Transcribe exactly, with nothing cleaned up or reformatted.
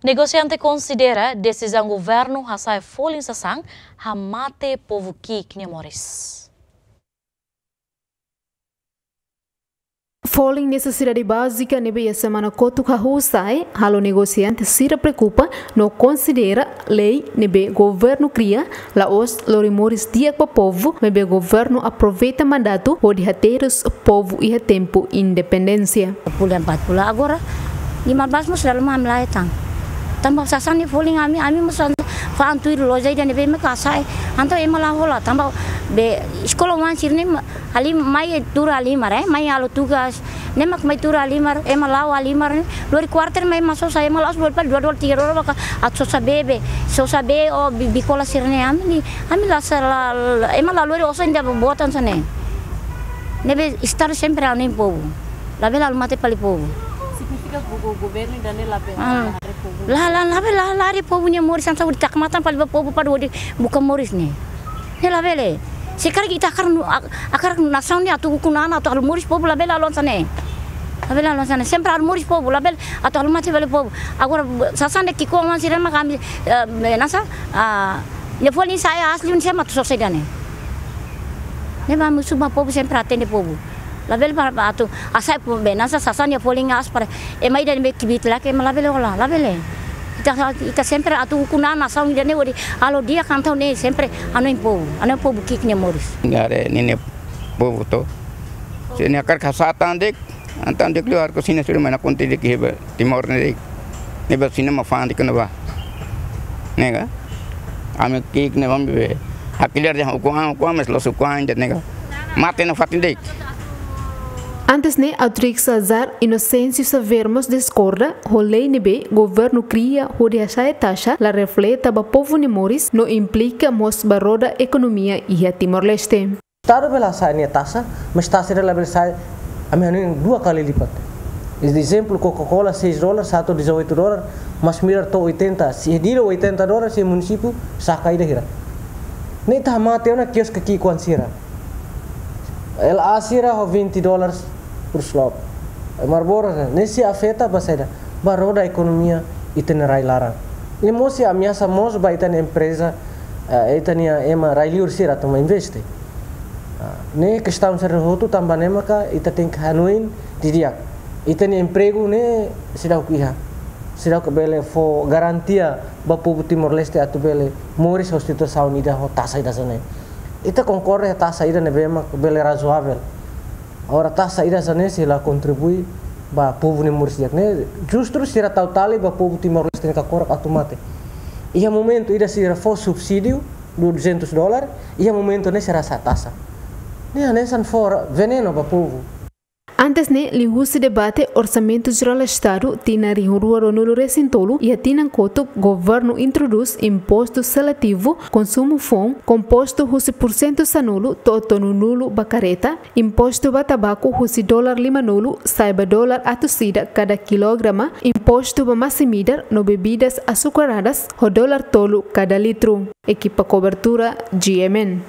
Negosiante konsidera desizaun governu hasa'e folin sasán hamate povu ki'ik nia moris. Folin nesesidade bázika ne'ebé iha semana kotuk hahú sa'e, halo negosiante sira preokupa no konsidera lei ne'ebé governu kria, la'ós lori moris di'ak ba povu, maibé governu aproveita mandatu hodi haterus povu iha tempu independénsia. Bulan empat bulan agora, lima belas mós selalu mamlai tan. Tanba sasán nia folin ami, ami mós an-, fa'an tuir loja ida ne'ebé mak hasa'e. Entaun ema la hola, tanba be eskola oan sira-ne'e ma-, halimar, mai tuur halimar, eh, mai halo tugas. Ne'e mak mai tuur halimar, ema la'o halimar ne'e. Lori kuarter mai ema sosa, ema la'ós lori fali dua dolar tiga dolar ba atu sosa bee be. Sosa bee ou bi-, bi'ik kola sira-ne'e ami ne'e. Ami la sa la, la, ema la lori osan ida boot hanesan ne'e. Ne'ebé Estadu sempre hanoin povu. Labele halo mate fali povu. Signifika go-, go-, governu ida-ne'e labele, ah, haree povu. La, la, labele la, la haree povu nia moris, hanesan hodi taka matan fali ba povu para hodi buka moris ne'e. Ne'e labele. Se karik ita hakarak nu-, hak-, hakarak nasaun ne'e atu ukun an, atu halo moris povu, labele halo hanesan ne'e. Labele halo hanesan ne'e. Sempre halo moris povu, labele atu halo mate fali povu. Agora, sasán ida ki'ik-oan sira mak ami, eh, nasa, ah, nia folin sa'e asli ne'e mak atu sosa ida-ne'e. Ne'e mak ami husu ba povu sempre atende povu. Labele para, para atu hasa'e povu be nasa sasán nia folin aas para ema ida ne'ebé kbiit la'ós ema labele hola, labele. Ita, ita sempre atu ukun an nasaun ida-ne'e hodi halo di'ak, entaun ne'e sempre hanoin povu, hanoin povu ki'ik nia moris. Haree ninia povu to. Se nia hakarak hasa'e tan de'it, entaun de'it liu haree kosina sira mai nakonu de'it iha Timor ne'e de'it. Ne'ebé sasán mak fa'an de'it kona ba. Ne'e ka? Ami ki'ik ne'e ami be. Hakilar dehan ukun an, ukun an, mas la'ós ukun an de'it ne'e ka? Mate nafatin de'it. Antes ne'e, Autrix Azar Inocêncio Xavier mós diskorda ho lei ne'ebé governu kria hodi hasa'e taxa la refleta ba povu nia moris no implika mós ba roda ekonomia iha Timor-Leste. Estadu bele hasa'e nia taxa, mas taxa ida labele sa'e, ami hanoin dua kali lipat. Ezemplu, Coca-Cola seis dolar, satu dezoito dolar, masin-midar to'o oitenta, se dira oitenta dolar, se munisípiu saka ida hira. Ne'e ita hamate ona kioske ki'ik-oan sira. L A sira ho vinte dólares por slop. Marlboro, ne'e sei afeta ba saida? Ba roda ekonomia ita-nia rai laran. Ne'e mós sei ameasa mós ba ita-nia empreza, eh, ita-nia ema rai liur sira atu mai investe. Ah, ne'e kestaun sira hotu tanba ne'e maka ita tenke hanoin didi'ak. Ita-nia empregu ne'e seidauk iha. Seidauk bele fó garantia ba povu Timor-Leste atu bele moris ho situasaun ida ho taxa ida hanesan ne'e. Ita konkorda taxa ida ne'ebé mak bele razoavel. Agora taxa ida hanesan ne'e sei la kontribui ba povu nia moris di'ak. Ne'e justru sira tau tali ba povu Timor-Leste nia kakorak atu mate. Iha momentu ida sira fó subsídiu duzentos dólar, iha momentu ne'e sira hasa'e taxa. Ne'e hanesan fó venenu ba povu. Antes ne'e, liuhusi debate Orsamentu Jerál Estadu tinan rihun rua ruanulu-resin-tolu, iha tinan kotuk governu introdús impostu seletivu konsumu foun, kompostu husi pursentu sanulu to'o tolunulu ba kareta, impostu ba tabaku husi dolar limanulu sa'e ba dolar atus ida kada kilograma, impostu ba masin-midar no bebidas açucaradas ho dolar tolu kada litru. Ekipa kobertura, G M N.